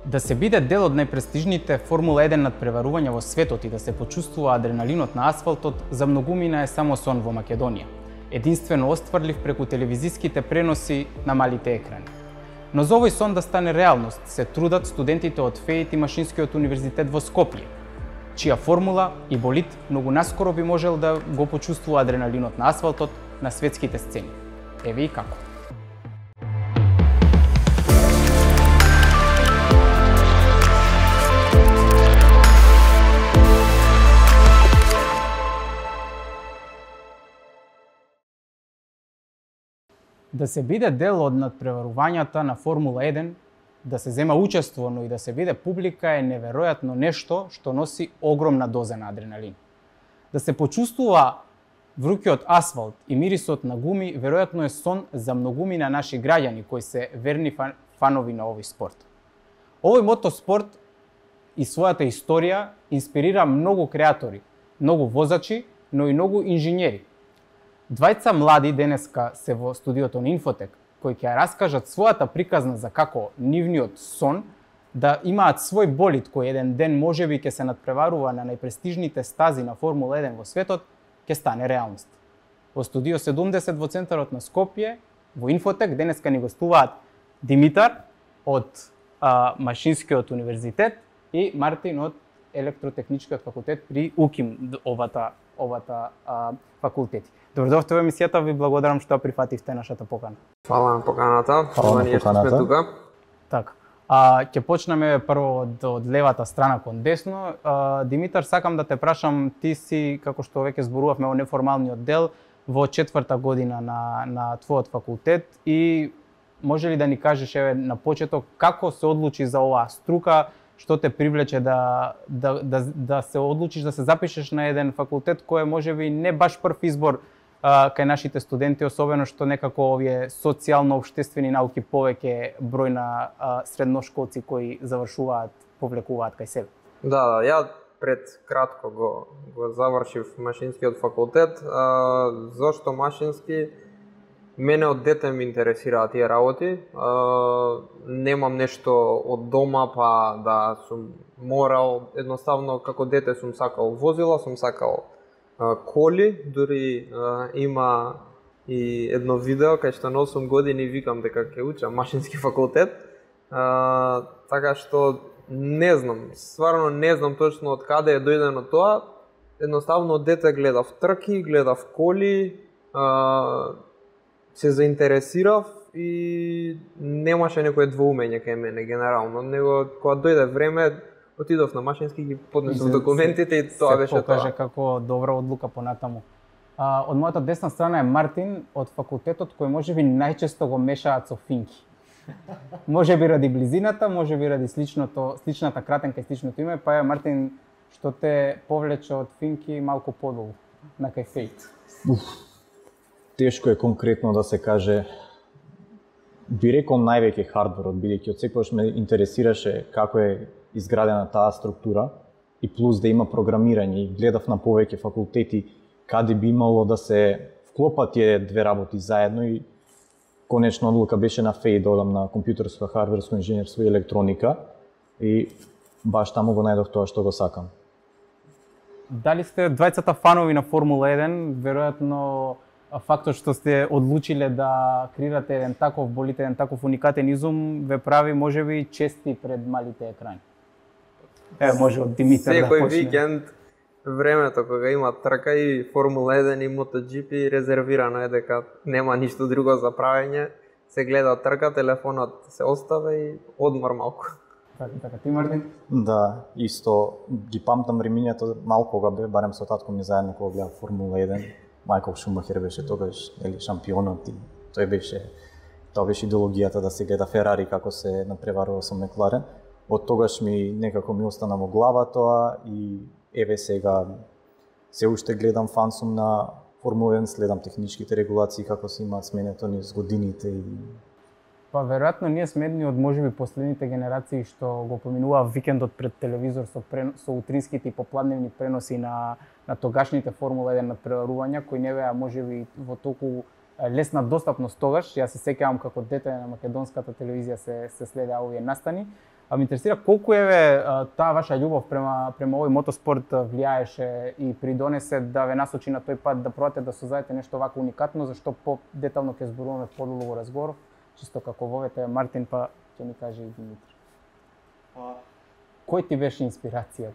Да се биде дел од најпрестижните Формула 1 надпреварувања во светот и да се почувствува адреналинот на асфалтот, за многумина е само сон во Македонија. Единствено остварлив преку телевизиските преноси на малите екрани. Но за овој сон да стане реалност се трудат студентите од ФЕИТ и Машинскиот универзитет во Скопје, чија формула и болид многу наскоро би можел да го почувствува адреналинот на асфалтот на светските сцени. Еве и како. Да се биде дел од надпреварувањата на Формула 1, да се зема учество, но и да се биде публика е неверојатно нешто што носи огромна доза на адреналин. Да се почувствува врукиот асфалт и мирисот на гуми веројатно е сон за многумина наши граѓани кои се верни фанови на овој спорт. Овој мотоспорт и својата историја инспирира многу креатори, многу возачи, но и многу инженери. Двајца млади денеска се во студиото на Инфотек, кои ќе раскажат својата приказна за како нивниот сон да имаат свој болид кој еден ден можеби ќе се надпреварува на најпрестижните стази на Формула 1 во светот, ќе стане реалност. Во студио 70 во центарот на Скопје, во Инфотек, денеска ни гостуваат Димитар од Машинскиот универзитет и Мартин од Електротехничкиот факултет при УКИМ, овата факултети. Добродојавте во емисијата, ви благодарам што прифативте нашата покана. Фала на поканата. Фала на поканата. Сме тука. Така. Ќе почнеме прво од левата страна кон десно. Димитар, сакам да те прашам, ти си, како што веќе зборувавме во неформалниот дел, во 4-та година на твојот факултет и може ли да ни кажеш еве на почеток како се одлучи за оваа струка, што те привлече да се одлучиш да се запишеш на еден факултет кој е можеби не баш прв избор кај нашите студенти, особено што некако овие социјално-општествени науки повеќе број на средношколци кои завршуваат, повлекуваат кај себе. Да, ја пред кратко го завршив Машинскиот факултет. Зошто машински? Мене од дете ме интересираат тие работи. Немам нешто од дома па да сум морал, едноставно како дете сум сакал возила, сум сакал коли, дури има и едно видео кај што на 8 години викам дека ќе учам Машински факултет. Така што не знам, стварно не знам точно од каде е дојдено тоа. Едноставно од дете гледав трки, гледав коли, се заинтересирав и немаше некое двоумење кај мене генерално, него кога дојде време отидов на Машински, ги поднесов документите и тоа беше тоа. Се покаже како добра одлука понатаму. Од мојата десна страна е Мартин од факултетот кој можеби најчесто го мешаат со финки. Можеби ради близината, можеби ради сличната кратенка и сличното име, па е Мартин што те повлече од финки малку подолу на кај ФЕИТ. Тешко е конкретно да се каже. Би рекол највеќе хардверот, бидејќи од секогаш ме интересираше како е изградена таа структура и плюс да има програмирање и гледав на повеќе факултети каде би имало да се вклопат тие две работи заедно и конечно одлука беше на ФЕИ да одам на компјутерско, хардверско инженерство и електроника и баш таму го најдов тоа што го сакам. Дали сте двајцата фанови на Формула 1, веројатно фактот што сте одлучиле да креирате еден таков болид, еден таков уникатен изум, ве прави можеби чести пред малите екрани. Може од Димитар да почне. Секој викенд, времето кога има трка и Формула 1 и MotoGP, резервирано е дека нема ништо друго за правење, се гледа трка, телефонот се оставя и одмор малку. Така, ти Мартин? Да, исто ги памтам времињата малку кога бе, барем со татко ми заедно кога гледав Формула 1. Мајкл Шумахер беше тогаш шампионот и тоа беше идеологијата да се гледа Ферари како се надпреварува со Мекларен. Од тогаш некако ми остана во глава тоа и еве сега се уште гледам, фан сум на Формула 1, следам техничките регулации како се имаат сменето низ годините и Па веројатно ние сме едни од можеби последните генерации што го поминуваа викендот пред телевизор со утринските и попладневни преноси на тогашните Формула 1 надпреварувања кои не беа можеби во толку лесна достапност тогаш. Јас се сеќавам како дете на македонската телевизија се следеа овие настани. Ме интересира колку таа ваша љубов према овој мотоспорт влијаеше и придонесе да ве насочи на тој пат да пробате да создадете нешто вако уникатно, зашто по-детално ќе зборуваме подолго во разговор, чисто како вовете Мартин, па ќе ни каже и Димитар. Кој ти беше инспирација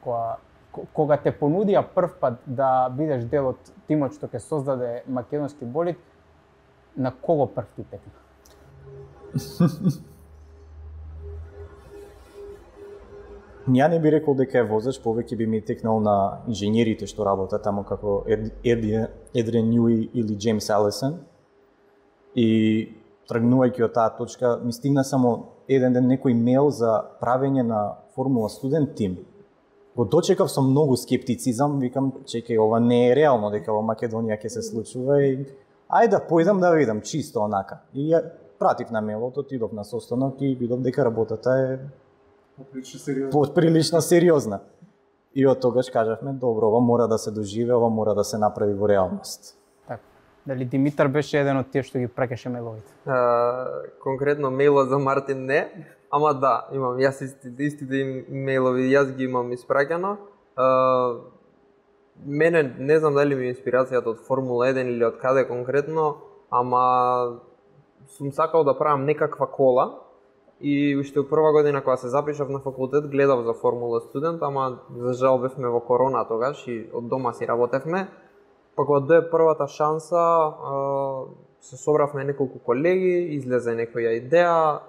кога те понудија прв пат да бидеш дел од тимот што ќе создаде македонски болид, на кого прв ти текна? Ја не би рекол дека е возач, повеќе би ми текнал на инженерите што работат таму како Едриан Нјуи или Джеймс Алисен. И тргнувајќи од таа точка, ми стигна само еден ден некој мејл за правење на Формула студент тим. Го дочекав со многу скептицизам, викам, чекај, ова не е реално дека во Македонија ќе се случува и ајде да појдам да видам чисто онака. И ја пратив на мејлот, отидов на состанок и видов дека работата е прилично сериозна. И од тогаш кажавме, добро, ова мора да се доживе, ова мора да се направи во реалност. Така. Дали Димитар беше еден од тие што ги праќаше мејловите? Конкретно мејлот за Мартин не, ама да, имам јас истите мејлови, јас ги имам испраќано. Мене не знам дали ми е инспирацијата од Формула 1 или од каде конкретно, ама сум сакал да правам некаква кола. И уште прва година кога се запишав на факултет гледав за Формула студент, ама за жал бевме во корона тогаш и од дома си работевме. Па кога дое првата шанса, се собравме неколку колеги, излезе некоја идеја,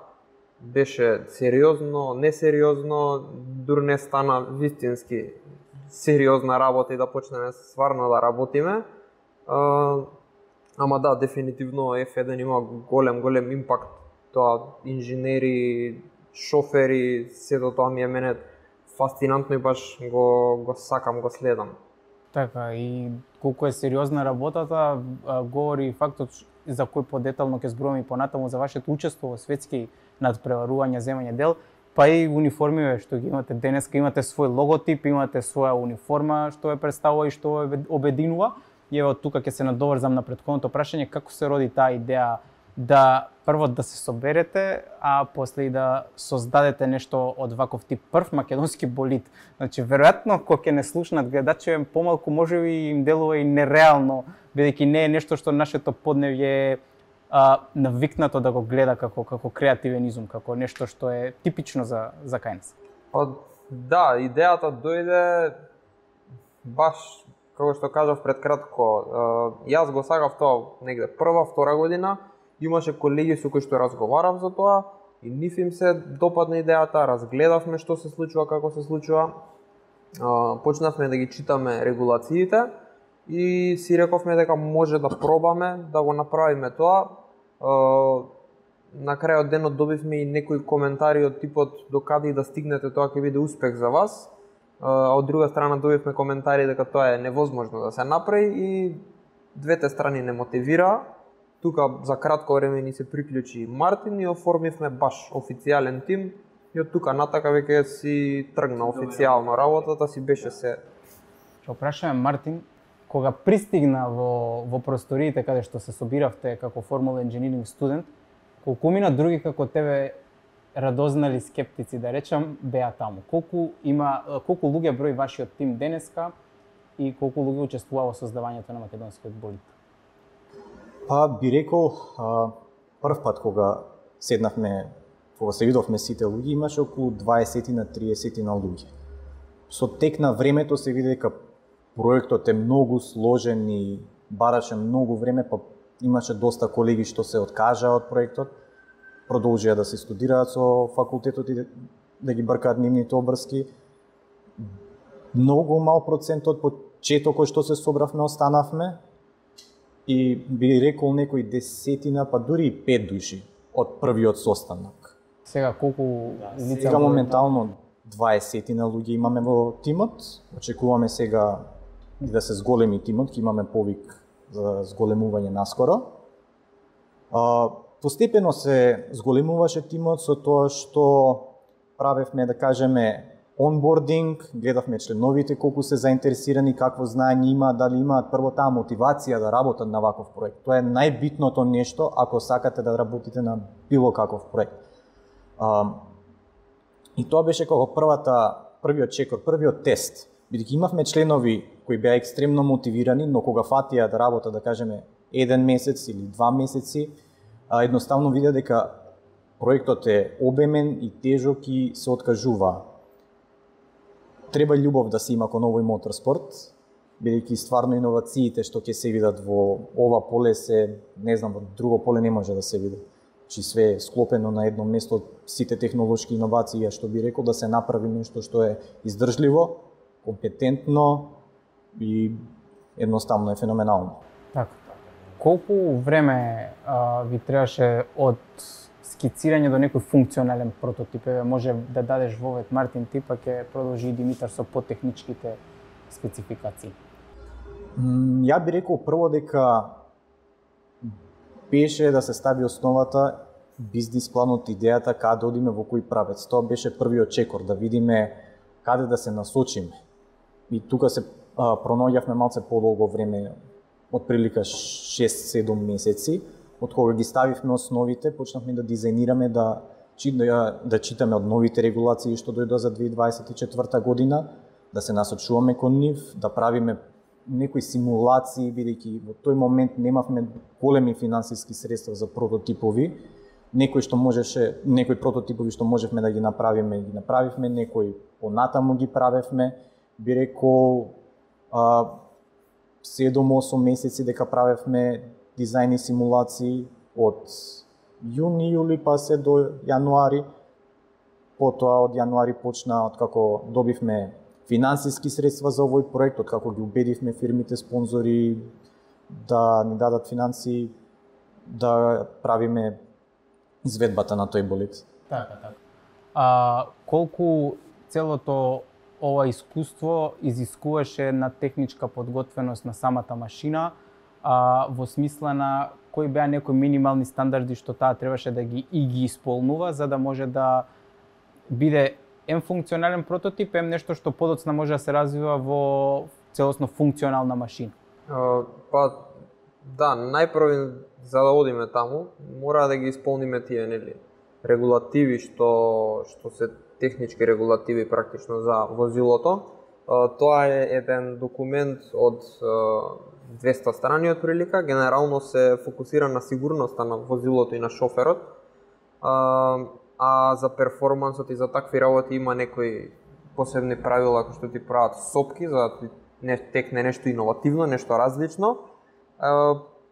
беше сериозно, несериозно, дур не стана вистински сериозна работа и да почнеме стварно да работиме. Ама да, дефинитивно F1 има голем импакт. Тоа инженери, шофери, сето тоа ми е мене фасцинантно и баш го сакам, го следам. Така, и колку е сериозна работата, говори и фактот за кој подетално ќе зборуваме и понатаму за вашето учество во светски надпреварувања, земање дел, па и униформиве што ги имате денеска, имате свој логотип, имате своја униформа што ве представува и што ве обединува. И еве од тука ќе се надоврзам на претходното прашање, како се роди таа идеја да прво да се соберете, а после и да создадете нешто од ваков тип прв македонски болид. Значи, веројатно, кога ќе не слушнат гледачи, помалку можеби им делува и нереално, бидејќи не е нешто што нашето подневје е навикнато да го гледа како креативен изум, како нешто што е типично за кај нас. Па да, идејата дојде баш како што кажав пред кратко. Јас го сакав тоа негде прва, втора година. Имаше колеги со кои што разговарав за тоа и нив им се допадна идејата, разгледавме што се случува, како се случува. Почнавме да ги читаме регулациите и си рековме дека може да пробаме да го направиме тоа. На крајот денот добивме и некои коментари од типот докаде и да стигнете тоа ќе биде успех за вас. Од друга страна добивме коментари дека тоа е невозможно да се направи и двете страни не мотивираа. Тука за кратко време ни се приклучи Мартин и оформивме баш официјален тим и од тука натака веќе си тргна официјално работата, си беше се. Што прашаме Мартин, кога пристигна во просториите каде што се собиравте како Формула Engineering студент, колку мина други како тебе радознали скептици, да речам, беа таму? Колку луѓе број вашиот тим денеска и колку луѓе учествува во создавањето на македонскиот болид? Па би рекол, прв пат кога седнавме, кога се видовме сите луѓе, имаше околу 20 на 30 на луѓе. Со тек на времето се види дека проектот е многу сложен и бараше многу време, па имаше доста колеги што се откажаа од проектот, продолжија да се студираат со факултетот и да ги бркаат нивните обврски. Многу мал процент од почетокот што се собравме останавме и би рекол некои десетина, па дури и 5 души од првиот состанок. Сега колку лица? Сега моментално 20 на луѓе имаме во тимот. Очекуваме сега да се зголеми тимот, ќе имаме повик за зголемување наскоро. Постепено се зголемуваше тимот со тоа што правевме, да кажеме, онбординг, гледавме членовите колку се заинтересирани, какво знаење има, дали имаат прво таа мотивација да работат на ваков проект. Тоа е најбитното нешто ако сакате да работите на било каков проект. И тоа беше како првиот чекор, првиот тест. Бидејќи имавме членови кои беа екстремно мотивирани, но кога фатија да работа, да кажеме, 1 месец или 2 месеци, едноставно видеа дека проектот е обемен и тежок и се откажува. Треба љубов да се има кон овој моторспорт, бидејќи стварно иновациите што ќе се видат во ова поле се, не знам, во друго поле не може да се види. Чи све е склопено на едно место, сите технолошки иновации, што би рекол да се направи нешто што е издржливо, компетентно и едноставно е феноменално. Така. Колку време ви требаше од скицирање до некој функционален прототип? Може да дадеш вовет Мартин, ти па ќе продолжи Димитар со потехничките спецификации. Ја би рекол прво дека беше да се стави основата, бизнис планот, идејата каде одиме, во кој правец. Тоа беше првиот чекор, да видиме каде да се насочиме. И тука се пронаоѓавме малце подолго време, отприлика 6-7 месеци, од кога ги ставивме основите, почнавме да дизајнираме, да читаме од новите регулации што дојдоа за 2024 година, да се насочуваме кон нив, да правиме некои симулации, бидејќи во тој момент немавме големи финансиски средства за прототипови. Некои прототипови што можевме да ги направиме, некои понатаму ги правевме. Би рекол 7-8 месеци дека правевме дизајни симулации од јуни, јули па се до јануари. Потоа од јануари почна, откако добивме финансиски средства за овој проект, откако ги убедивме фирмите спонзори да ни дадат финансии, да правиме изведбата на тој болид. Така. Колку целото ова искуство изискуваше на техничка подготвеност на самата машина, во смисла на кои беа некои минимални стандарди што таа требаше да ги исполнува, за да може да биде функционален прототип, нешто што подоцна може да се развива во целосно функционална машина? Да, најпрво за да одиме таму, мора да ги исполниме тие регулативи што се технички регулативи практично за возилото. Тоа е еден документ од 200 страни од прилика, генерално се фокусира на сигурноста на возилото и на шоферот. А за перформансот и за такви работи има некои посебни правила кои што ти прават сопки за да текне нешто иновативно, нешто различно.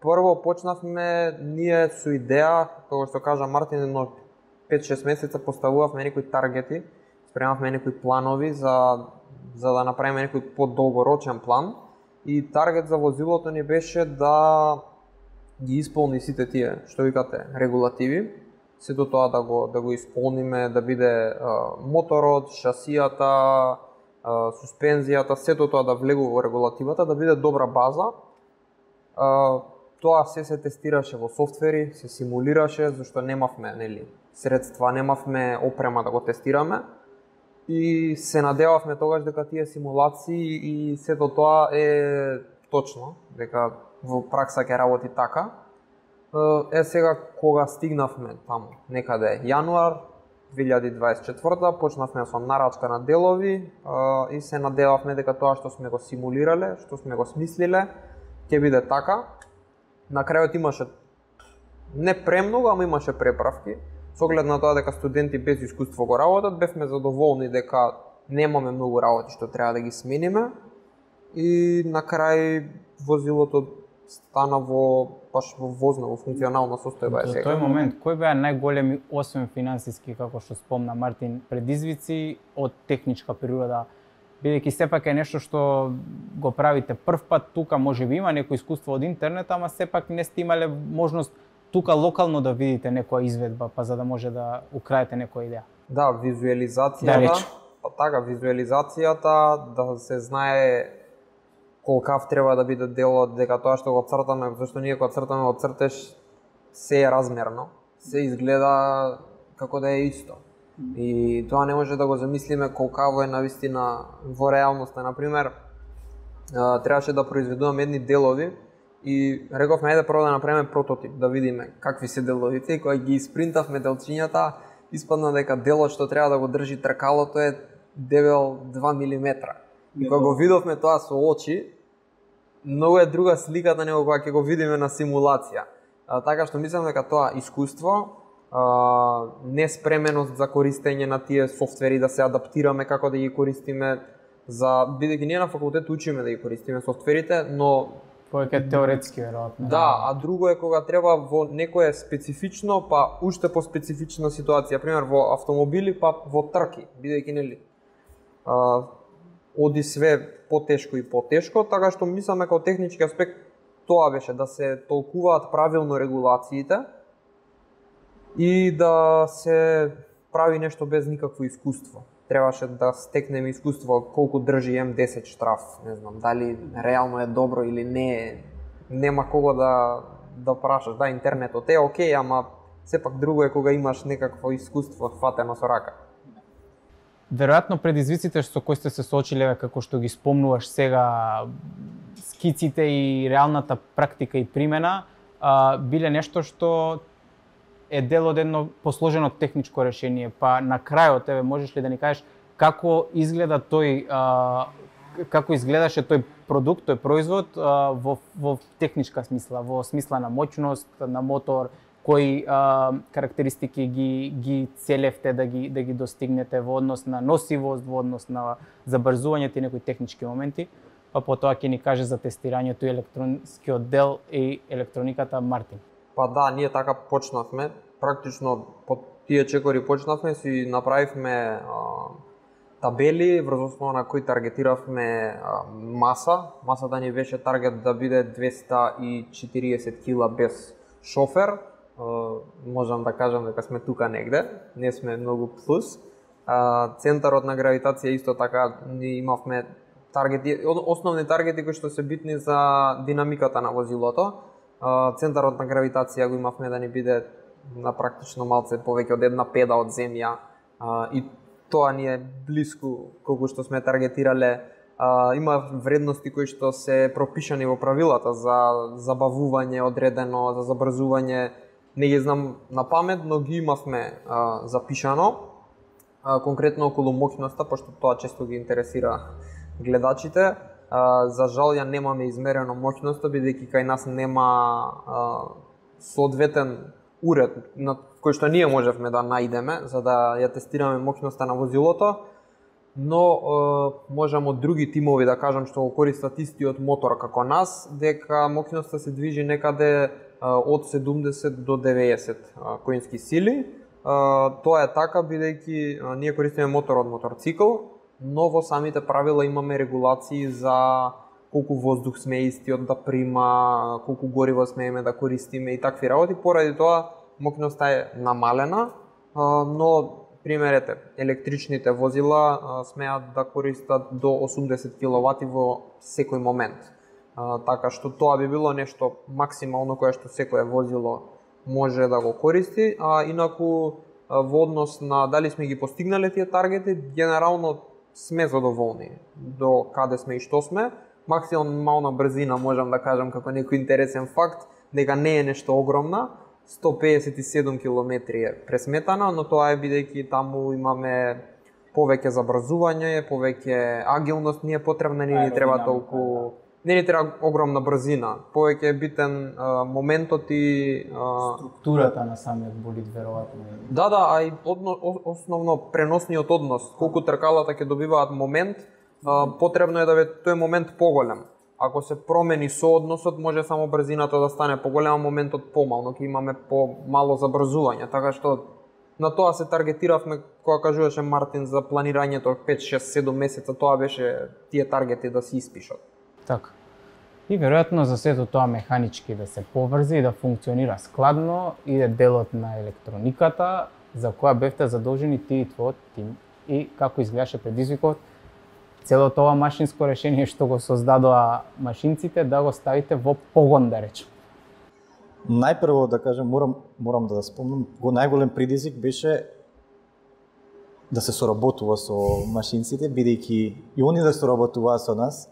Прво почнавме ние со идеја, како што кажа Мартин, едно 5-6 месеца поставувавме некои таргети, спремавме некои планови за да направиме некој подолгорочен план. И таргет за возилото ни беше да ги исполни сите тие, што викате, регулативи. Сето тоа да го исполниме, да биде моторот, шасијата, суспензијата, сето тоа да влегува во регулативата, да биде добра база. Тоа се тестираше во софтвери, се симулираше, зашто немавме средства, немавме опрема да го тестираме. И се надевавме тогаш дека тие симулации и сето тоа е точно, дека во пракса ќе работи така. Сега кога стигнавме таму, некаде јануар 2024, почнавме со нарачка на делови и се надевавме дека тоа што сме го симулирале, што сме го смислиле, ќе биде така. На крајот имаше не премногу, ама имаше преправки. Со оглед на тоа дека студенти без искуство го работат, бевме задоволни дека немаме многу работи што треба да ги смениме. И на крај возилото стана баш во возна, во функционална состојба сега. До тој момент, кои беа најголеми, освен финансиски, како што спомна Мартин, предизвици од техничка природа? Бидејќи сепак е нешто што го правите прв пат, тука можеби има некој искуство од интернет, ама сепак не сте имале можност тука локално да видите некоја изведба, па за да може да украете некоја идеја. Да, визуализацијата, визуализацијата, да се знае колкав треба да биде делот, дека тоа што го цртаме, зашто ние кога цртаме во цртеж се е размерно, се изгледа како да е исто. И тоа не може да го замислиме колкаво е навистина во реалноста. Например, требаше да произведуваме едни делови и рековме ајде прво да направиме прототип, да видиме какви се деловите, и кога ги испринтавме делчињата, испадна дека делот што треба да го држи тркалото е дебел 2 милиметра. И кога го видовме тоа со очи, многу е друга сликата него кога ќе го видиме на симулација. Така што мислам дека тоа искуство, неспременост за користење на тие софтвери, да се адаптираме како да ги користиме, бидејќи ние на факултет учиме да ги користиме софтверите, но повеќе теоретски веројатно. Да, а друго е кога треба во некое специфично, па уште по специфична ситуација, пример во автомобили, па во трки, бидејќи нели оди све потешко и потешко, така што мислам дека од технички аспект тоа беше да се толкуваат правилно регулациите и да се прави нешто без никакво искуство. Требаше да стекнеме искуство колку држи М10 штраф, не знам, дали реално е добро или не, нема кого да прашаш. Да, интернетот е окей, ама сепак друго е кога имаш некакво искуство фатено со рака. Веројатно предизвиците со кои сте се соочиле, како што ги спомнуваш сега, скиците и реалната практика и примена, биле нешто што е дел од едно посложено техничко решение. Па на крајот, можеш ли да ни кажеш како изгледа како изгледаше тој продукт, тој производ во техничка смисла, во смисла на моќност, на мотор, кои карактеристики ги целевте да ги достигнете во однос на носивост, во однос на забрзувањето и некои технички моменти, па потоа ќе ни каже за тестирањето и електронскиот дел и електрониката Мартин. Па да, ние така почнавме, практично по тие чекори почнавме, си направивме табели врз основа на кои таргетиравме маса. Масата ни беше таргет да биде 240 кила без шофер. Можам да кажам дека сме тука негде, не сме многу плюс. Центарот на гравитација исто така ни имавме таргети, основни таргети кои што се битни за динамиката на возилото. Центарот на гравитација го имавме да ни биде на практично малце повеќе од 1/5 од земја и тоа ни е блиску колку што сме таргетирале. Има вредности кои што се пропишани во правилата за забавување одредено, за забрзување. Не ги знам на памет, но ги имавме запишано, конкретно околу моќноста, пошто тоа често ги интересира гледачите. За жал ја немаме измерено моќноста, бидејќи кај нас нема соодветен уред на кој што ние можевме да најдеме за да ја тестираме моќноста на возилото, но можам од други тимови да кажам што го користат истиот мотор како нас, дека моќноста се движи некаде од 70 до 90 коински сили. Тоа е така бидејќи ние користиме мотор од моторцикл, но во самите правила имаме регулации за колку воздух сме истиот да прима, колку гориво смееме да користиме и такви работи. Поради тоа моќноста е намалена, но примерете, електричните возила смеат да користат до 80 киловати во секој момент. Така што тоа би било нешто максимално кое што секое возило може да го користи, а инаку во однос на дали сме ги постигнале тие таргети, генерално сме задоволни до каде сме и што сме. Максимална брзина можам да кажам како некој интересен факт дека не е нешто огромна, 157 километри е пресметана, но тоа е бидејќи таму имаме повеќе забрзување, повеќе агилност ни е потребна, не ни треба толку, не ни треба огромна брзина, повеќе е битен моментот и структурата на самиот болид веројатно. Да, а и основно преносниот однос, колку тркалата ќе добиваат момент, потребно е да биде тој момент поголем. Ако се промени соодносот, може само брзината да стане поголема, моментот помално, ќе имаме помало забрзување, така што на тоа се таргетиравме кога кажуваше Мартин за планирањето 5, 6, 7 месеца, тоа беше тие таргети да се испишат. Така. И веројатно за сето тоа механички да се поврзи и да функционира складно иде делот на електрониката за која бевте задолжени ти и твојот тим и како изгледаше предизвикот целото ова машинско решение што го создадоа машинците да го ставите во погон, да речем. Најпрво да кажем, морам да спомнам, најголем предизвик беше да се соработува со машинците, бидејќи и они да соработуваат со нас,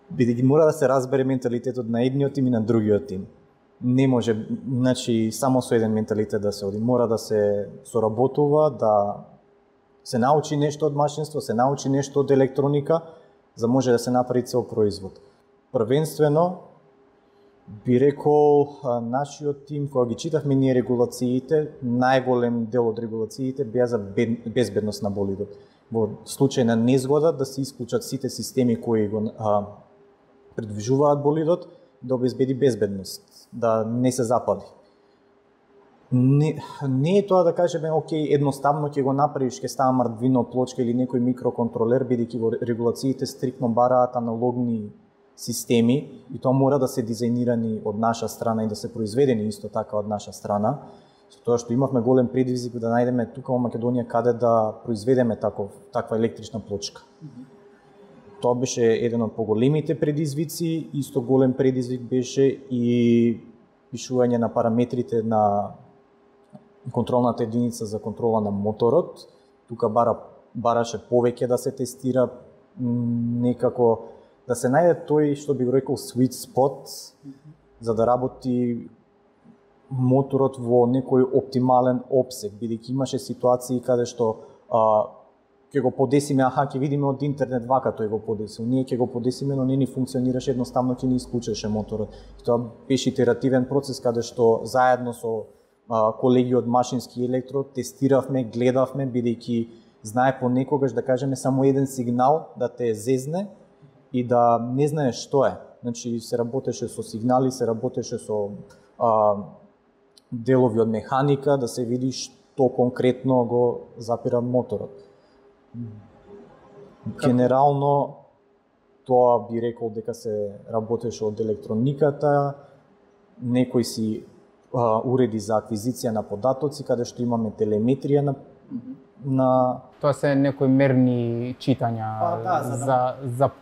бидејќи мора да се разбере менталитетот на едниот тим и на другиот тим. не може, значи, само со еден менталитет да се оди. Мора да се соработува, да се научи нешто од машинство, се научи нешто од електроника, за може да се направи цел производ. Првенствено, би рекол, нашиот тим, кога ги читавме ние регулациите, најголем дел од регулациите беа за безбедност на болидот. Во случај на незгода да се исклучат сите системи кои го предвижуваат болидот, да обезбеди безбедност, да не се запали. Не е тоа да кажеме, окей, едноставно ќе го направиш, ќе става Arduino плочка или некој микроконтролер, бидејќи во регулациите стриктно бараат аналогни системи и тоа мора да се дизајнирани од наша страна и да се произведени исто така од наша страна, со тоа што имавме голем предизвик да најдеме тука во Македонија каде да произведеме таква електрична плочка. Тоа беше еден од поголемите предизвици, исто голем предизвик беше и пишување на параметрите на контролната единица за контрола на моторот. Тука бараше повеќе да се тестира, некако да се најде тој што би го рекол sweet spot, за да работи моторот во некој оптимален опсег, бидејќи имаше ситуации каде што ќе го подесиме, ќе видиме од интернет вака тој го подесил, ние ќе го подесиме, но не ни функционираше, едноставно ќе ни исклучеше моторот. И тоа беше итеративен процес каде што заедно со колеги од машински електро тестиравме, гледавме, бидејќи знае понекогаш да кажеме само еден сигнал да те зезне и да не знаеш што е. Значи се работеше со сигнали, се работеше со делови од механика, да се види што конкретно го запира моторот. Генерално, тоа би рекол дека се работеше од електрониката, некои си уреди за аквизиција на податоци, каде што имаме телеметрија на... Тоа се некои мерни читања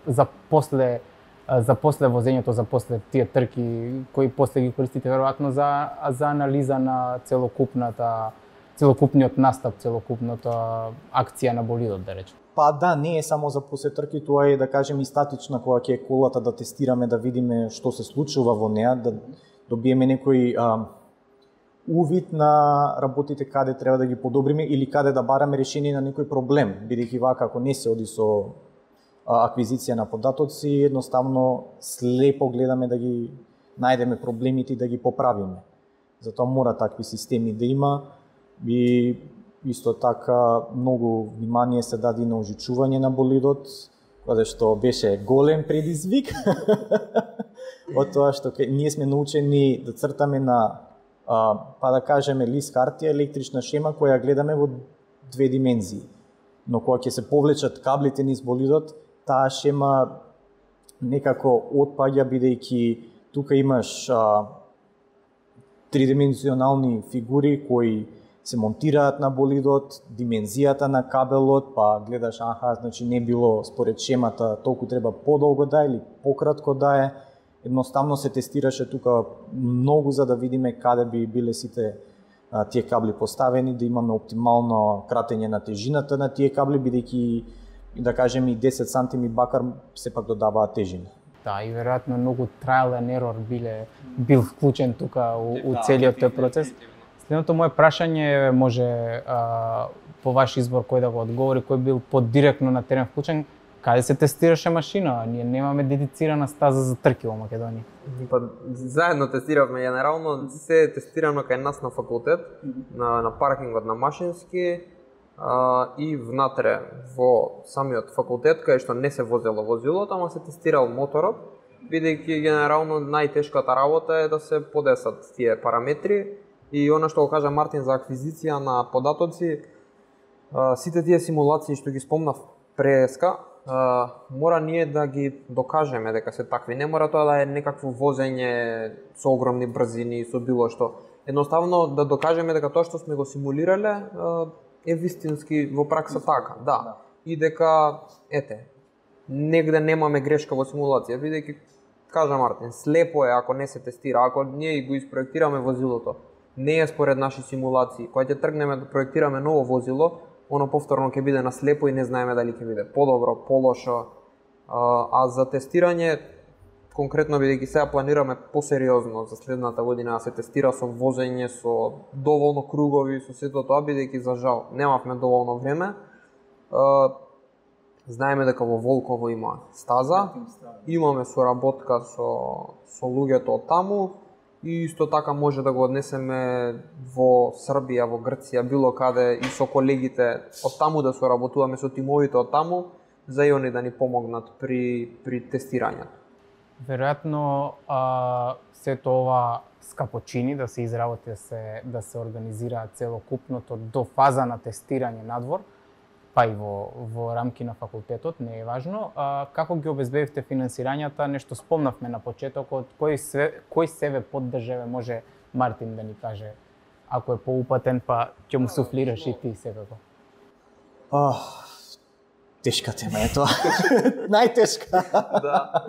за после возењето, за после тие трки кои после ги користите веројатно за анализа на целокупниот настап, целокупната акција на болидот, да речем. Па да, не е само за после трки, тоа е да кажем и статична кога ќе е колата да тестираме, да видиме што се случува во неа, да добиеме некој увид на работите каде треба да ги подобриме или каде да бараме решение на некој проблем, бидејќи вака ако не се оди со аквизиција на податоци, едноставно слепо гледаме да ги најдеме проблемите и да ги поправиме. Затоа мора такви системи да има и исто така многу внимание се даде на ожичување на болидот, каде што беше голем предизвик. Од тоа што ние сме научени да цртаме на па да кажеме лист хартија, електрична шема која гледаме во две димензии. Но кога ќе се повлечат каблите низ болидот, таа шема некако отпаѓа, бидејќи тука имаш тридимензионални фигури кои се монтираат на болидот, димензијата на кабелот, па гледаш, значи не било според шемата, толку треба подолго да е или пократко да е. Едноставно се тестираше тука многу за да видиме каде би биле сите тие кабли поставени, да имаме оптимално кратење на тежината на тие кабли, бидејќи да кажеме и 10 сантими бакар сепак додаваа тежина. Да, и веројатно многу trial and error бил вклучен тука у целиот тој процес. Следното моје прашање може по ваш избор кој да го одговори, кој бил подиректно на терен вклучен, каде се тестираше машина? Ние немаме дедицирана стаза за трки во Македонија. Па заедно тестиравме, генерално се е тестирано кај нас на факултет, на паркингот на машински и внатре во самиот факултет, кај што не се возело возилото, ама се тестирал моторот, бидејќи генерално најтешката работа е да се подесат тие параметри и она што го кажа Мартин за аквизиција на податоци, сите тие симулации што ги спомнав преска, мора ние да ги докажеме дека се такви. Не мора тоа да е некакво возење со огромни брзини, со било што. Едноставно да докажеме дека тоа што сме го симулирале е вистински во пракса така, да. И дека, негде немаме грешка во симулација, бидејќи, кажа Мартин, слепо е ако не се тестира, ако ние го испроектираме возилото, не е според наши симулации. Кога ќе тргнеме да проектираме ново возило, оно повторно ќе биде на слепо и не знаеме дали ќе биде подобро, полошо. А за тестирање, конкретно бидејќи сега планираме посериозно за следната година да се тестира со возење, со доволно кругови, со сето тоа, бидејќи за жал немавме доволно време. Знаеме дека во Волково има стаза, имаме соработка со луѓето од таму и исто така може да го однесеме во Србија, во Грција, било каде и со колегите од таму да соработуваме со тимовите од таму, за и они да ни помогнат при тестирањето. Веројатно сето ова скапочини да се изработи, да се организира целокупното до фаза на тестирање надвор, па и во рамки на факултетот, не е важно. Како ги обезбедивте финансирањата? Нешто спомнавме на почетокот, кој себе поддржаве може Мартин да ни каже, ако е поупатен, па ќе му суфлираш и ти себеко. Тешка тема е тоа. Најтешка. Да.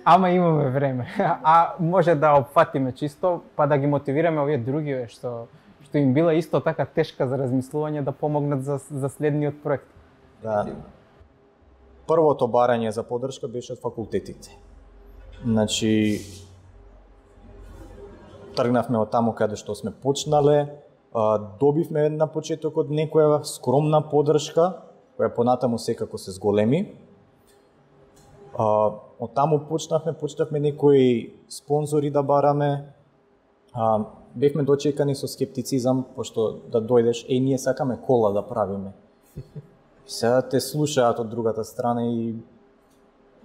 Ама имаме време. А може да опфатиме чисто, па да ги мотивираме овие други што им била исто така тешка за размислување да помогнат за следниот проект. Да. Првото барање за поддршка беше од факултетите. Значи, тргнавме од таму каде што сме почнале, добивме на почетокот некоја скромна поддршка, која понатаму секако се зголеми. Од таму почнавме некои спонзори да бараме. Бевме дочекани со скептицизам, пошто да дојдеш, ние сакаме кола да правиме. Сега те слушаат од другата страна и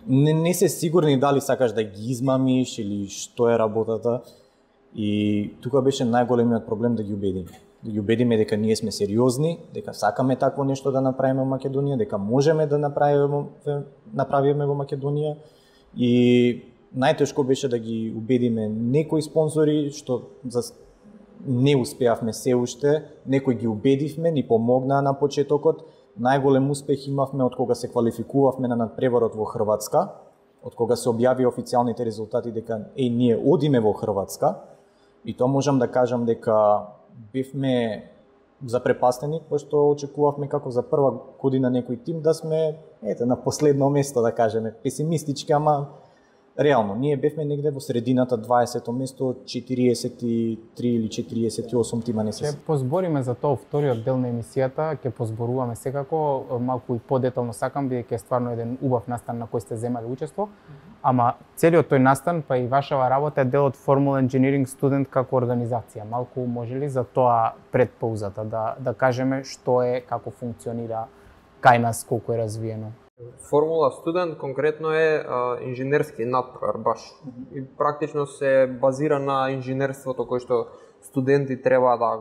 не се сигурни дали сакаш да ги измамиш или што е работата. И тука беше најголемиот проблем да ги убедиме. Да ги убедиме дека ние сме сериозни, дека сакаме такво нешто да направиме во Македонија, дека можеме да направиме во Македонија. И најтешко беше да ги убедиме некои спонзори, што не успеавме се уште, некои ги убедивме, ни помогнаа на почетокот. Најголем успех имавме од кога се квалификувавме на надпреварот во Хрватска, од кога се објави официјалните резултати дека ние одиме во Хрватска. И тоа можам да кажам дека бевме запрепастени, пошто очекувавме како за прва година некој тим да сме на последно место, да кажеме, песимистички, ама реално, ние бевме негде во средината, 20-то место, 43 или 48 тима не се. Ќе позбориме за тоа вториот дел на емисијата, ќе позборуваме секако, малку и подетално сакам, бидејќи е стварно еден убав настан на кој сте земали учество, ама целиот тој настан, па и вашава работа е дел од Formula Engineering Student како организација. Малку може ли за тоа пред паузата да кажеме што е, како функционира кај нас, колку е развиено? Формула Студент конкретно е инженерски надпревар баш. И практично се базира на инженерството кој што студенти треба да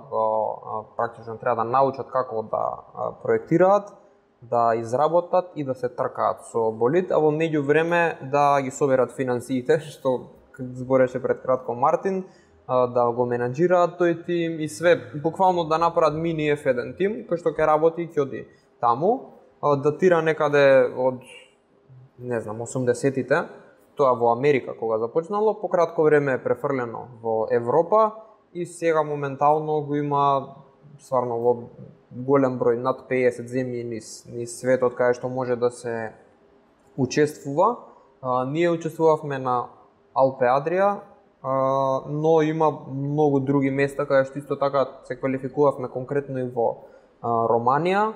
практично треба да научат како да проектираат, да изработат и да се тркаат со болид, а во меѓувреме да ги соберат финансиите, што збореше пред кратко Мартин, да го менаџираат тој тим и све, буквално да направат мини F1 тим кој што ќе работи и ќе оди таму. Датира некаде од, не знам, 80-тите, тоа во Америка кога започнало, по кратко време е префрлено во Европа и сега моментално го има стварно во голем број, над 50 земји низ светот каде што може да се учествува. Ние учествувавме на Алпе Адрија, но има многу други места каде што исто така се квалификувавме, конкретно и во Романија.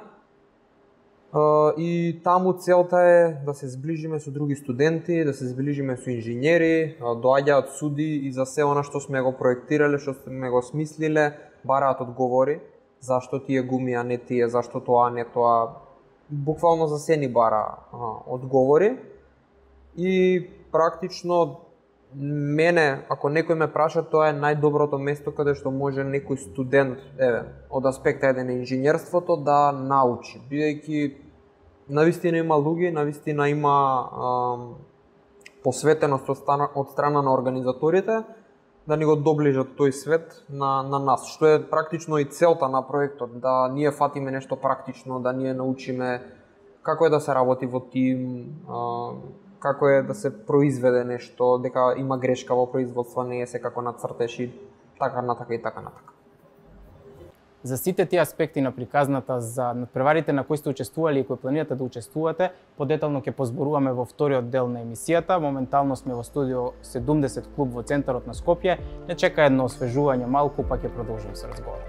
И таму целта е да се зближиме со други студенти, да се зближиме со инженери, доаѓаат суди и за се она што сме го проектирале, што сме го смислиле, бараат одговори, зашто тие гуми, а не тие, зашто тоа, а не тоа. Буквално за се ни бара одговори. И практично мене, ако некој ме праша, тоа е најдоброто место каде што може некој студент, од аспекта еден инженерството, да научи. Бидејќи навистина има луѓе, навистина има посветеност од страна на организаторите да ни го доближат тој свет на нас, што е практично и целта на проектот, да ние фатиме нешто практично, да ние научиме како е да се работи во тим, како е да се произведе нешто, дека има грешка во производство, не е секако нацртеш и така натака и така натака. За сите тие аспекти на приказната, за надпреварите на кои сте учествували и кои планирате да учествувате, подетално ќе позборуваме во вториот дел на емисијата. Моментално сме во студио 70 клуб во центарот на Скопје. Не чека едно освежување малку, па ќе продолжим со разговорот.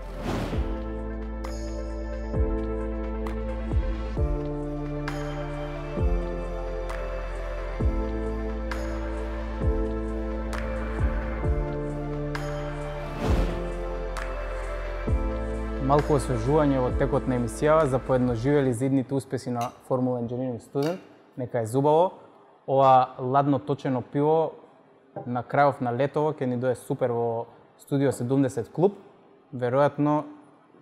Малку освежување во текот на емисијава за поедноживели за идните успеси на Formula Engineering Student. Нека е зубаво. Ова ладно точено пиво на крајов на летово ќе ни дое супер во студио 70 клуб. Веројатно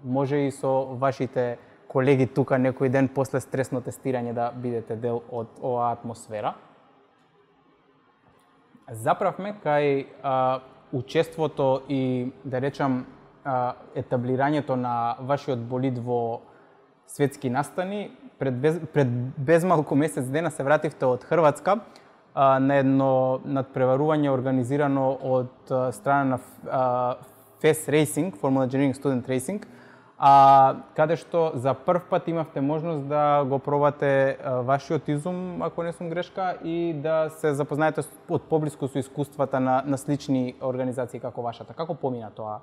може и со вашите колеги тука некој ден после стресно тестирање да бидете дел од оваа атмосфера. Заправме кај учеството и, да речам, етаблирањето на вашиот болид во светски настани. Пред безмалку месец дена се вративте од Хрватска на едно надпреварување организирано од страна на FES Racing, Formula Engineering Student Racing, каде што за прв пат имавте можност да го пробате вашиот изум, ако не сум грешка, и да се запознаете од поблиску со искуствата на слични организации како вашата. Како помина тоа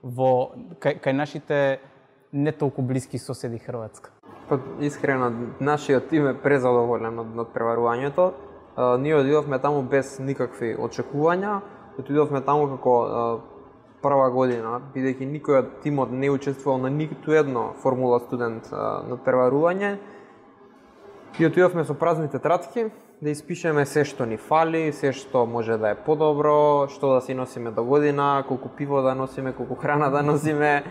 кај нашите не толку блиски соседи Хрватска? Искрено, нашиот тим е презадоволен од надпреварувањето. Ние одидовме таму без никакви очекувања. Отидовме таму како прва година, бидејќи никој од тимот не учествувал на ниту едно Формула студент надпреварување. И отидовме со празни тетрадки да испишеме се што ни фали, се што може да е подобро, што да си носиме до година, колку пиво да носиме, колку храна да носиме.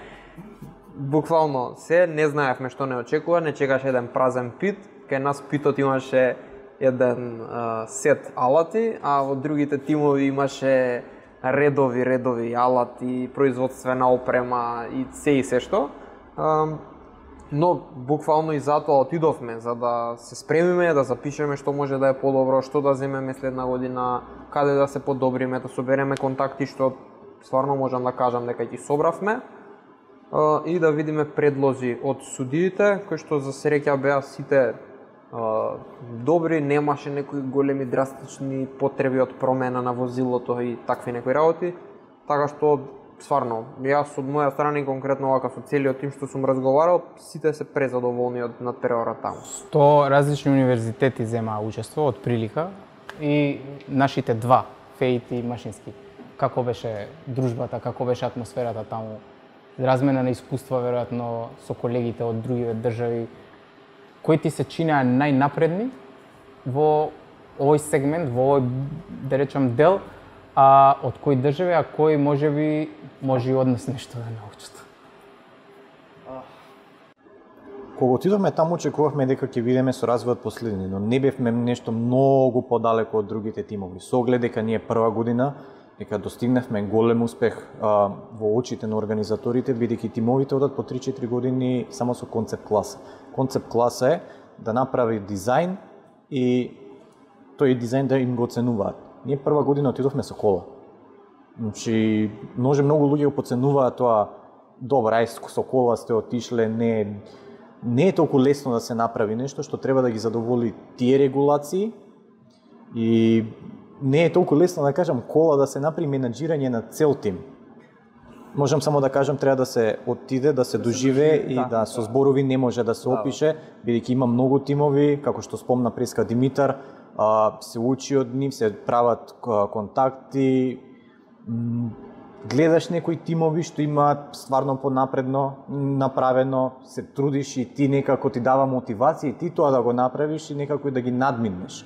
Буквално се, не знаевме што не очекува, не чекаше еден празен пит. Кај нас питот имаше еден сет алати, а во другите тимови имаше редови алати, производствена опрема и се што. Но буквално и затоа отидовме за да се спремиме, да запишеме што може да е подобро, што да земеме следна година, каде да се подобриме, да собереме контакти што стварно можам да кажам дека ги собравме, и да видиме предлози од судиите, кои што за среќа беа сите добри, немаше некои големи драстични потреби од промена на возилото и такви некои работи, така што стварно, јас од моја страна и конкретно вака со целиот тим што сум разговарал, сите се презадоволни од надпреварата таму. 100 различни универзитети земаа учество од прилика и нашите два, ФЕИТ и Машински. Како беше дружбата, како беше атмосферата таму? Размена на искуства веројатно со колегите од други држави. Кои ти се чинеа најнапредни во овој сегмент, во овој, да речам, дел, а од кои држави, а кои може и од нас нешто да научат? Кога отидовме таму, очекувавме дека ќе видиме со развојот последни, но не бевме нешто многу подалеку од другите тимови. Со оглед дека ние прва година, дека достигнавме голем успех во очите на организаторите, бидејќи тимовите одат по 3-4 години само со концепт класа. Концепт класа е да направи дизајн и тој дизајн да им го оценуваат. Ние прва година отидовме со кола. Значи, може многу луѓе го поценуваат тоа, добра, со кола сте отишле, не е толку лесно да се направи нешто што треба да ги задоволи тие регулации и не е толку лесно да кажам кола да се направи менаџирање на цел тим. Можам само да кажам треба да се отиде, да се доживее и да со зборови не може да се опише, бидејќи има многу тимови, како што спомна преска Димитар, се учи од нив, се прават контакти, гледаш некои тимови што имаат стварно понапредно направено, се трудиш и ти некако ти дава мотивација и ти тоа да го направиш и некако да ги надминеш.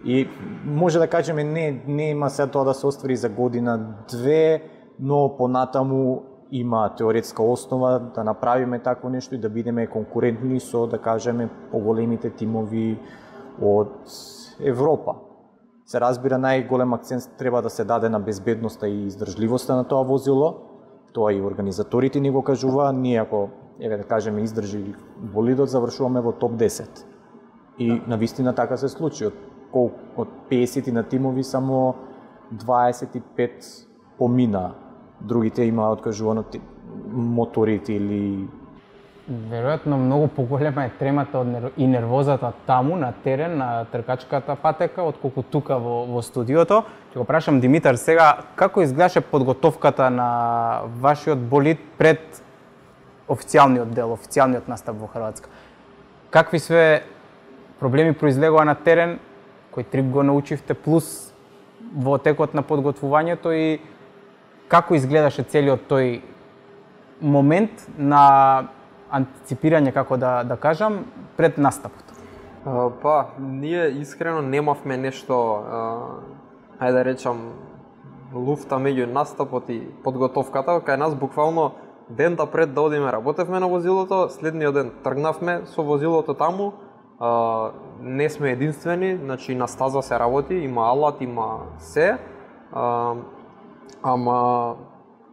И може да кажеме не има се тоа да се оствари за година-две, но понатаму има теоретска основа да направиме такво нешто и да бидеме конкурентни со, да кажеме, поголемите тимови од Европа. Се разбира, најголем акцент треба да се даде на безбедноста и издржливоста на тоа возило. Тоа и организаторите ни го кажува. Ние ако, да кажеме, издржи болидот, завршуваме во топ 10. И навистина така се случи. Од 50 на тимови само 25 помина. Другите има откажувано моторите или Веројатно многу поголема е тремата и нервозата таму на терен на тркачката патека отколку тука во студиото. Ќе го прашам Димитар сега како изгледаше подготовката на вашиот болид пред официјалниот дел, официјалниот настап во Хрватска. Какви све проблеми произлегоа на терен, кој трип го научивте плюс во текот на подготвувањето и како изгледаше целиот тој момент на антиципирање, како да кажам, пред настапот? Ние искрено немавме нешто, ајде да речам, луфта меѓу настапот и подготовката. Кај нас буквално дента пред да одиме работевме на возилото, следниот ден тргнавме со возилото таму. Не сме единствени, значи на стаза се работи, има алат, има се. Ама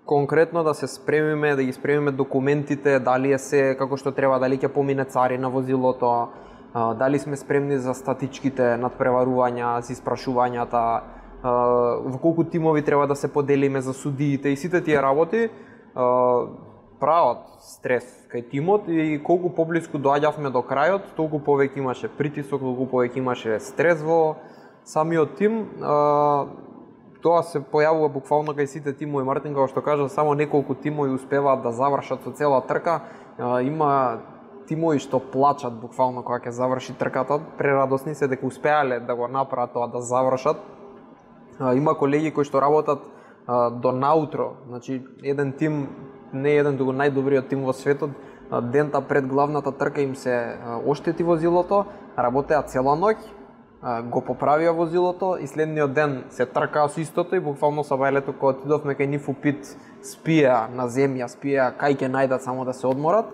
конкретно да се спремиме, да ги спремиме документите, дали е се како што треба, дали ќе помине цари на возилото, дали сме спремни за статичките надпреварувања, за испрашувањата, во колку тимови треба да се поделиме за судиите и сите тие работи прават стрес кај тимот и колку поблиску доаѓавме до крајот, толку повеќе имаше притисок, толку повеќе имаше стрес во самиот тим. Тоа се појавува буквално кај сите тимови. Мартин, како што кажа, само неколку тимови успеваат да завршат со цела трка. Има тимови што плачат буквално кога ќе заврши трката. Прерадосни се дека успеале да го направат тоа, да завршат. Има колеги кои што работат до наутро. Значи, еден тим, не еден, туку најдобриот тим во светот, дента пред главната трка им се оштети возилото, работеа цела ноќ, го поправија возилото и следниот ден се тркаа со истото и буквално со бајлето кога отидовме кај нив упит, спија на земја, спија кај ќе најдат само да се одморат.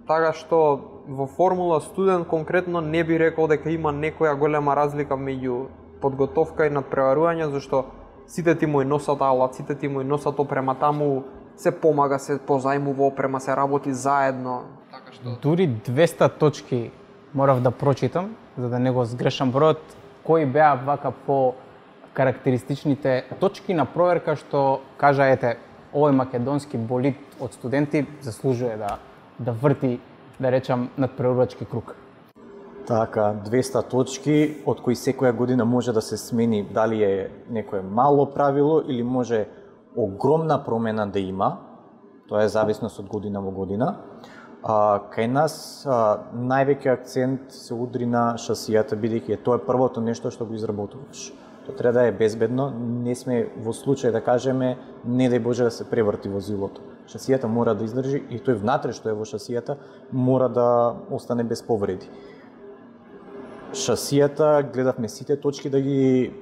Така што во Формула студент конкретно не би рекол дека има некоја голема разлика меѓу подготовка и надпреварување, зашто сите тимови носат алат, сите тимови носат опрема таму, се помага, се позајмува опрема, се работи заедно. Така што дури 200 точки морав да прочитам, за да не го сгрешам бројот, кои беа вака по карактеристичните точки на проверка што кажа ете овој македонски болид од студенти заслужува да врти, да речам, надпреварувачки круг. Така, 200 точки, од кои секоја година може да се смени дали е некое мало правило или може огромна промена да има. Тоа е зависност од година во година. Кај нас највеќе акцент се удри на шасијата, бидејќи тоа е првото нешто што го изработуваш. Тоа треба да е безбедно, не сме во случај да кажеме не дај Боже да се преврти возилото. Шасијата мора да издржи и тој внатре што е во шасијата мора да остане без повреди. Шасијата гледавме сите точки да ги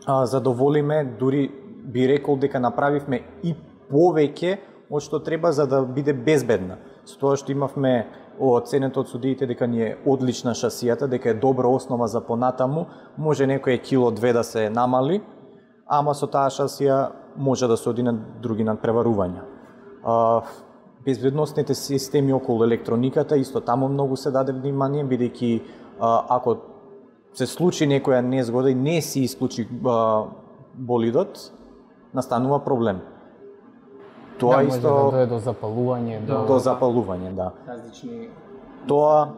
задоволиме, дури би рекол дека направивме и повеќе од што треба за да биде безбедна. Со тоа што имавме оценето од судиите дека ни е одлична шасијата, дека е добра основа за понатаму, може некој кило-две да се намали, ама со таа шасија може да се оди на други надпреварувања. Безбедносните системи околу електрониката, исто таму многу се даде внимание, бидејќи ако се случи некоја незгода и не се исклучи болидот, настанува проблем. Тоа може да дојде до запалување, до запалување, да. Различни Тоа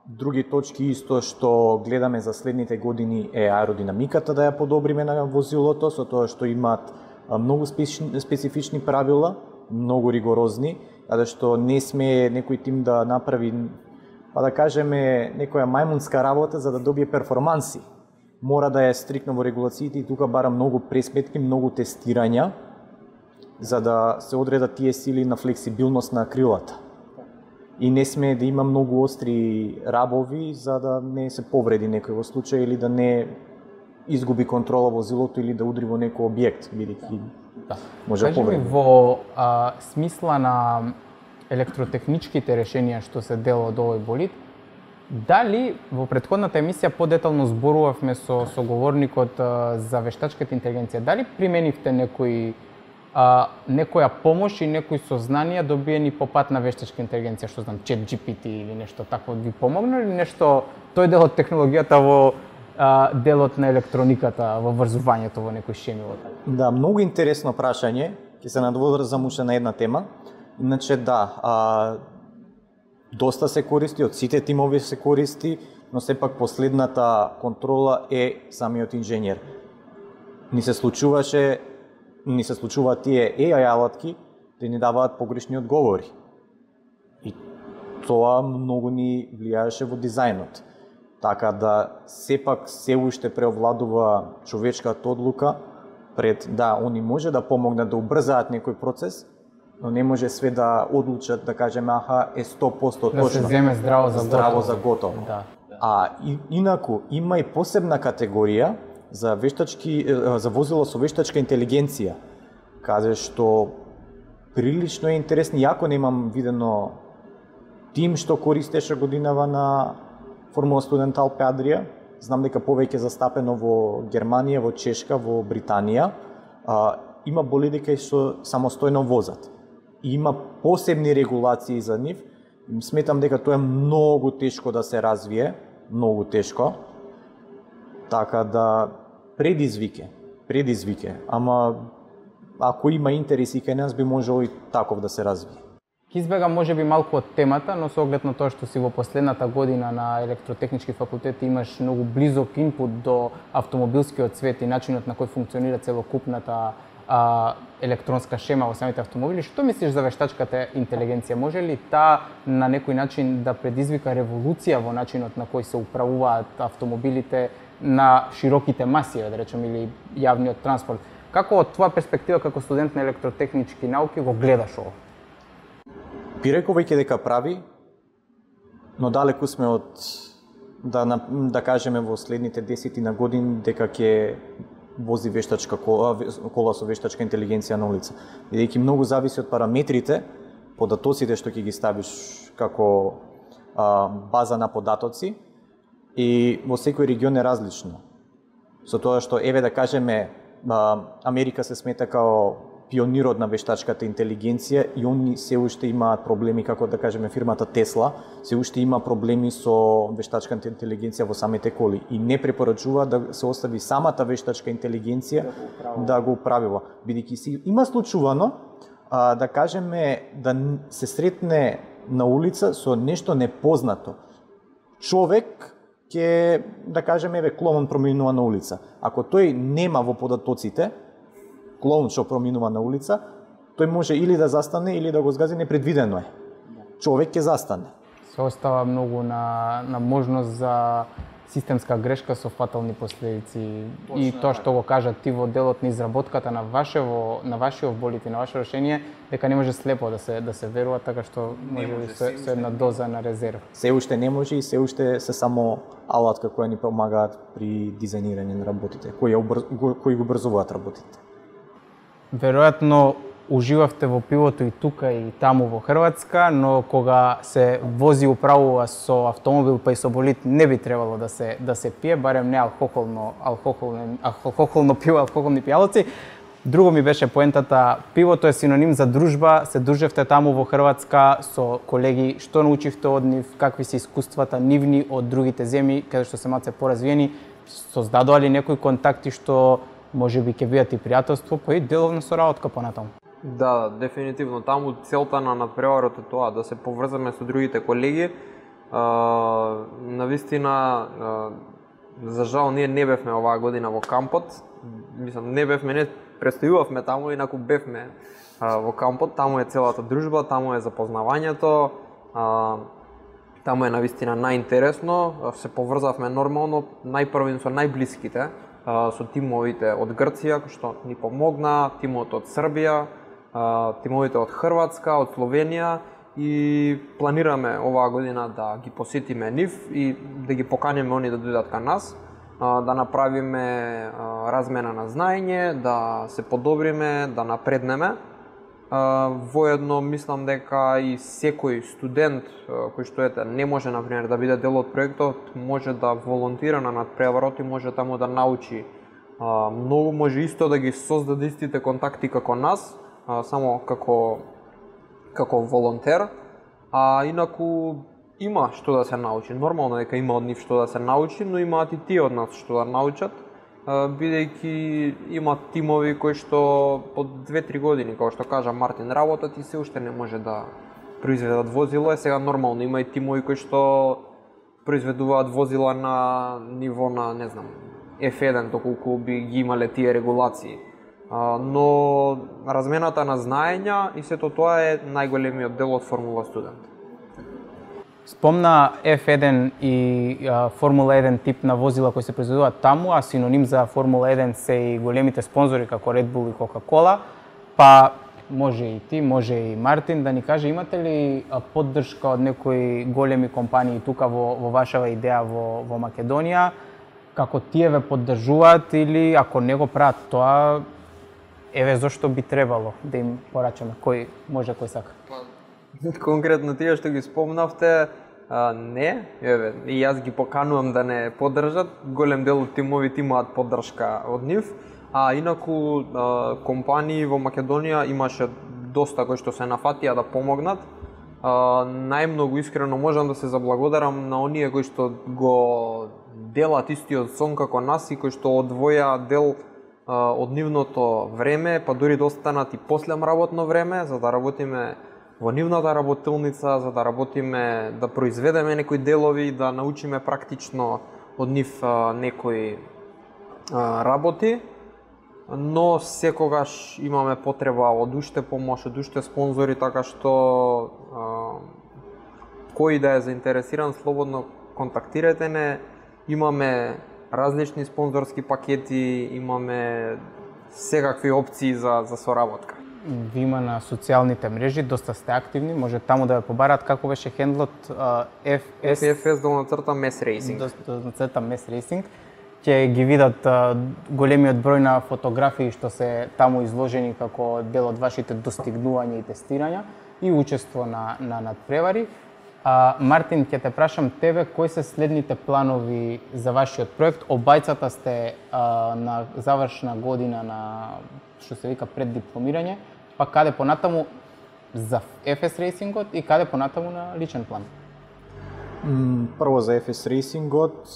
други точки исто што гледаме за следните години е аеродинамиката да ја подобриме на возилото, со тоа што имаат многу специфични правила, многу ригорозни, каде што не сме некој тим да направи, па да кажеме, некоја мајмунска работа за да добие перформанси. Мора да е стрикно во регулациите и тука бара многу пресметки, многу тестирања, за да се одредат тие сили на флексибилност на крилата. И не сме да има многу остри рабови за да не се повреди некој во случај или да не изгуби контрола возилото или да удри во некој објект, бидејќи може да повреди. Кажи ми, во смисла на електротехничките решенија што се дел од овој болид, дали во претходната емисија подетално зборувавме со соговорникот за вештачката интелигенција, дали применивте некоја помош и некои сознанија добиени по пат на вештачка интелигенција, што знам, ChatGPT или нешто такво, ви помогна или нешто, тој дел од технологијата во делот на електрониката, во врзувањето во некои шеми? Да, многу интересно прашање. ќе се надврзам уште на една тема. Иначе да, доста се користи, од сите тимови се користи, но сепак последната контрола е самиот инженер. Ни се случуваат тие AI алатки да ни даваат погрешни одговори. И тоа многу ни влијаеше во дизајнот. Така да сепак се уште преовладува човечката одлука пред они може да помогнат да убрзаат некој процес, но не може све да одлучат да кажеме е 100% точно. Да се земе здраво за готово. Да. Инаку има и посебна категорија за возило со вештачка интелигенција, каде што прилично е интересно, јако немам видено тим што користеше годинава на Формула Студент Алпе Адрија. Знам дека повеќе застапено во Германија, во Чешка, во Британија. Има болиди кај што самостојно возат. И има посебни регулации за нив. Сметам дека тоа е многу тешко да се развие, многу тешко. Така да предизвике. Ама ако има интереси кај нас би можело и таков да се развие. Ке избегам можеби малку од темата, но со оглед на тоа што си во последната година на електротехнички факултет имаш многу близок инпут до автомобилскиот свет и начинот на кој функционира целокупната електронска шема во самите автомобили. Што мислиш за вештачката интелигенција? Може ли таа на некој начин да предизвика револуција во начинот на кој се управуваат автомобилите на широките маси, да речем, или јавниот транспорт? Како од твоја перспектива како студент на електротехнички науки го гледаш ово? Би рекол веќе дека прави, но далеку сме од да кажеме во следните 10 години дека ќе вози вештачка кола со вештачка интелигенција на улица. Бидејќи многу зависи од параметрите, податоците што ќе ги ставиш како база на податоци и во секој регион е различно. Со тоа што да кажеме Америка се смета као пионирот на вештачката интелигенција и они се уште имаат проблеми, како да кажеме фирмата Тесла, се уште има проблеми со вештачката интелигенција во самите коли и не препорачува да се остави самата вештачка интелигенција да го управува. Бидејќи има случувано да кажеме да се сретне на улица со нешто непознато. Човек ќе да кажеме клоун проминува на улица. Ако тој нема во податоците клоун што проминува на улица, тој може или да застане или да го згази, непредвидено е. Човек ќе застане. Се остава многу на можност за системска грешка со фатални последици. И тоа што го кажа ти во делот на изработката на вашиот болид и на ваше решение, дека не може слепо да се верува, така што може со една доза на резерва. Се уште не може и се уште се само алатка која ни помагаат при дизајнирање на работите, кои го брзуваат работите. Веројатно уживавте во пивото и тука и таму во Хрватска, но кога се вози управува со автомобил па и со болид не би требало да се пие, барем не алкохолно пиво, алкохолни пијалоци. Друго ми беше поентата, пивото е синоним за дружба, се дружевте таму во Хрватска со колеги, што научивте од нив, какви се искуствата нивни од другите земји, каде што се малце поразвиени, создадоа ли некои контакти што може би ќе бидат и пријателство, па и деловна соработка понатаму? Да, дефинитивно. Таму целта на надпреварот е тоа, да се поврзаме со другите колеги. Навистина, за жал, ние не бевме оваа година во кампот. Мислам, не бевме, не престојувавме таму, инаку бевме во кампот. Таму е целата дружба, таму е запознавањето, таму е навистина најинтересно. Се поврзавме нормално, најпрвен со најблиските, со тимовите од Грција, кој што ни помогна, тимот од Србија, тимовите од Хрватска, од Словенија и планираме оваа година да ги посетиме нив и да ги поканеме они да дојдат кај нас, да направиме размена на знаење, да се подобриме, да напреднеме. Воедно мислам дека и секој студент кој што не може например да биде дел од проектот, може да волонтира на надпреварот и може таму да научи многу, може исто да ги создаде истите контакти како нас, само како волонтер. Инаку има што да се научи. Нормално дека има од нив што да се научи, но имаат и тие од нас што да научат. бидејќи има тимови кои што по 2-3 години, како што кажа Мартин, работат и се уште не може да произведат возило. Сега нормално има и тимови кои што произведуваат возила на ниво на, не знам, F1, доколку би ги имале тие регулации. Но размената на знаења и сето тоа е најголемиот дел од Формула студент. Спомна F1 и Формула 1 тип на возила кои се произведуваат таму, а синоним за Формула 1 се и големите спонзори како Red Bull и Coca-Cola, па може и ти, може и Мартин да ни каже, имате ли поддршка од некои големи компании тука во вашава идеја во Македонија, како тие ве поддржуваат или ако не го прават тоа, еве зошто би требало да им порачаме, кој може, кој сака? Конкретно тие што ги спомнавте, не, еве, и јас ги поканувам да не поддржат, голем дел од тимовите имаат поддршка од нив, а инаку компании во Македонија имаше доста кои што се нафатија да помогнат. Најмногу искрено можам да се заблагодарам на оние кои што го делат истиот сон како нас и кои што одвоја дел од нивното време, па дури да останат и после работно време, за да работиме во нивната работилница, за да работиме, да произведеме некои делови, да научиме практично од нив некои работи. Но секогаш имаме потреба од уште помош, од уште спонзори, така што кој да е заинтересиран, слободно контактирате не. Имаме различни спонзорски пакети, имаме секакви опции за соработка. Ви има на социјалните мрежи, доста сте активни, може таму да ве побарат како беше хендлот FFS_MES Racing. MES Racing. Ќе ги видат големиот број на фотографии што се таму изложени како дел од вашите достигнувања и тестирања и учество на надпревари. Мартин, ќе те прашам тебе, кои се следните планови за вашиот проект? Обајцата сте на завршна година на, што се вика, преддипломирање, па каде понатаму за FS Racing-от и каде понатаму на личен план? Прво за FS Racing-от,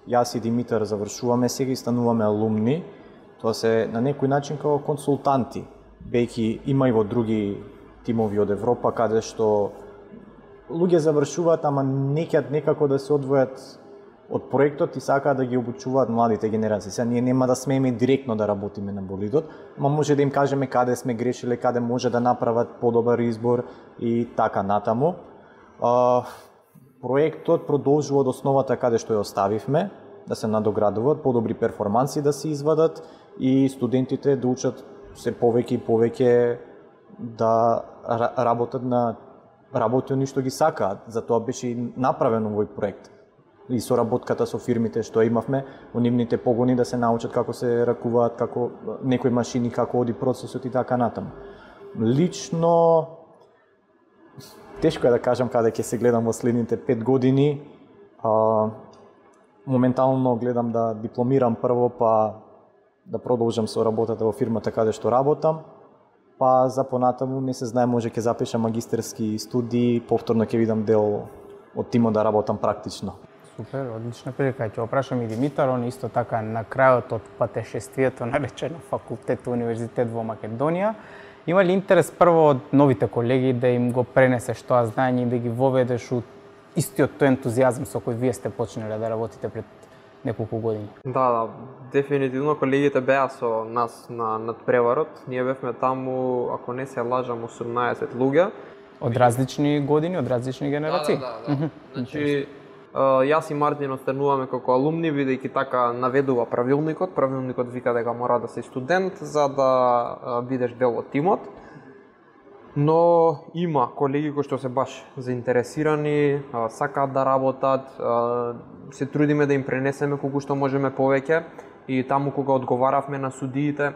јас и Димитар завршуваме сега и стануваме алумни. Тоа се на некој начин како консултанти, бејќи има и во други тимови од Европа каде што луѓе завршуваат, ама не ќе некако да се одвојат од проектот и сакаат да ги обучуваат младите генерации. Сега ние нема да смееме директно да работиме на болидот, ама може да им кажеме каде сме грешиле, каде може да направат подобар избор и така натаму. Проектот продолжува од основата каде што ја оставивме, да се надоградуваат, подобри перформанси да се извадат и студентите да учат се повеќе и повеќе да работат на работи оние што ги сакаат. Затоа беше и направен овој проект. И соработката со фирмите што имавме, во нивните погони да се научат како се ракуваат, како некои машини, како оди процесот и така натаму. Лично тешко е да кажам каде ќе се гледам во следните 5 години. Моментално гледам да дипломирам прво, па да продолжам со работата во фирмата каде што работам. Па за понатаму не се знае, може ќе запишам магистерски студии, повторно ќе видам дел од тимот да работам практично. Супер, одлична прилика. Ќе опрашам и Димитар, он исто така на крајот од патешествието наречено факултет универзитет во Македонија. Има ли интерес прво од новите колеги да им го пренесеш тоа знаење и да ги воведеш у истиот тој ентузијазм со кој вие сте почнале да работите пред неколку години? Да, дефинитивно колегите беа со нас на надпреварот. Ние бевме таму, ако не се лажам, 18 луѓе. Од различни години, од различни генерации? Да. Значи, јас и Мартин остануваме како алумни, бидејќи така наведува правилникот. Правилникот вика дека мора да си студент за да бидеш дел од тимот. Но има колеги кои што се баш заинтересирани, сакаат да работат, се трудиме да им пренесеме колку што можеме повеќе и таму кога одговаравме на судиите,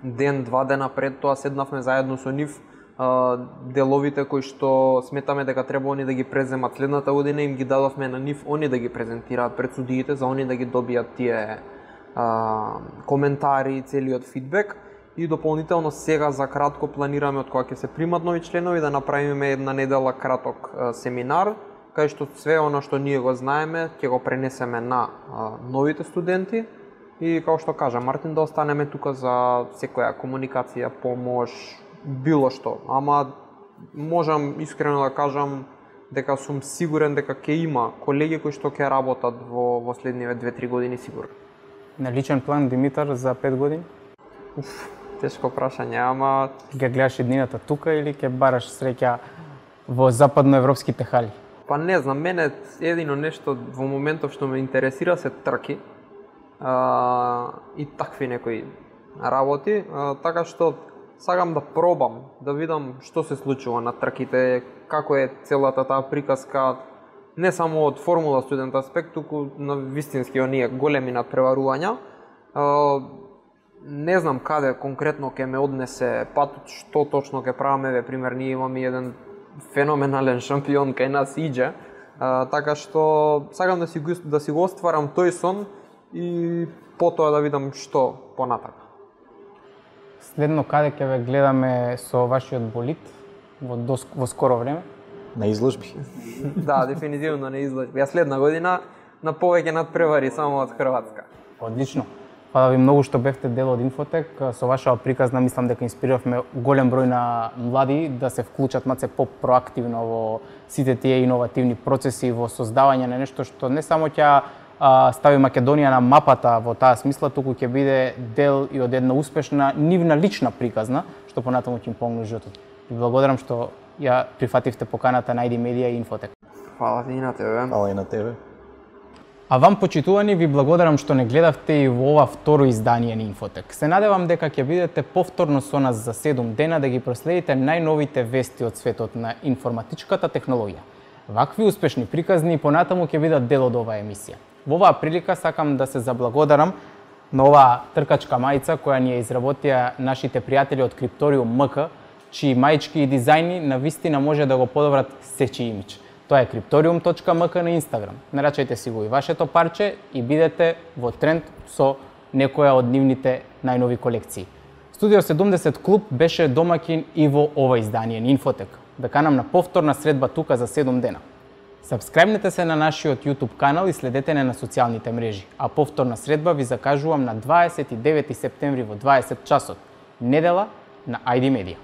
ден-два дена пред тоа седнавме заедно со нив, деловите кои што сметаме дека треба они да ги преземат следната година, им ги дадовме на нив, они да ги презентираат пред судиите, за они да ги добијат тие коментари, целиот фидбек. И дополнително сега за кратко планираме од кога ќе се примат нови членови да направиме една недела краток семинар, кај што све она што ние го знаеме ќе го пренесеме на новите студенти И како што кажа Мартин, да останеме тука за секоја комуникација, помош, било што. Ама можам искрено да кажам дека сум сигурен дека ќе има колеги кои што ќе работат во следниве 2-3 години сигурно. На личен план, Димитар, за 5 години? Тешко прашање, ама Ќе гледаш еднината тука или ќе бараш среќа во западноевропските хали? па не знам, мене едино нешто во моментов што ме интересира се трки и такви некои работи, така што сакам да пробам, да видам што се случува на трките, како е целата таа приказка, не само од формула студент аспект, туку на вистински оние големи надпреварувања. Не знам каде конкретно ќе ме однесе патот, што точно ќе правиме, пример ние имаме еден феноменален шампион кај нас Иџе, така што сакам да си го остварам тој сон и потоа да видам што понатака. Следно каде ќе ве гледаме со вашиот болид во скоро време? На изложби. Да, дефинитивно не изложби. Ја следна година на повеќе надпревари само од Хрватска. Одлично. Фала ви многу што бевте дел од Инфотек. Со вашава приказна мислам дека инспириравме голем број на млади да се вклучат маце по-проактивно во сите тие иновативни процеси, во создавање на нешто што не само ќе стави Македонија на мапата во таа смисла, туку ќе биде дел и од една успешна нивна лична приказна, што понатаму ќе им помогне животот. Ви благодарам што ја прифативте поканата на ID Media и Инфотек. Фала ти и на тебе. Фала и на тебе. А вам, почитувани, ви благодарам што не гледавте и во ова второ издание на Инфотек. Се надевам дека ќе бидете повторно со нас за 7 дена да ги проследите најновите вести од светот на информатичката технологија. Вакви успешни приказни понатаму ќе бидат дел од оваа емисија. Во оваа прилика сакам да се заблагодарам на оваа тркачка мајца која ни ја изработија нашите пријатели од Крипториум МК, чии маички и дизајни на вистина може да го подобрат сечи имидж. Тоа е cryptorium.mk на Инстаграм. Нарачајте си го и вашето парче и бидете во тренд со некоја од нивните најнови колекции. Студио 70 клуб беше домакин и во ова издание на Инфотек. Да канам на повторна средба тука за 7 дена. Сабскрајбнете се на нашиот YouTube канал и следете не на социјалните мрежи, а повторна средба ви закажувам на 29 септември во 20 часот, недела на ID Media.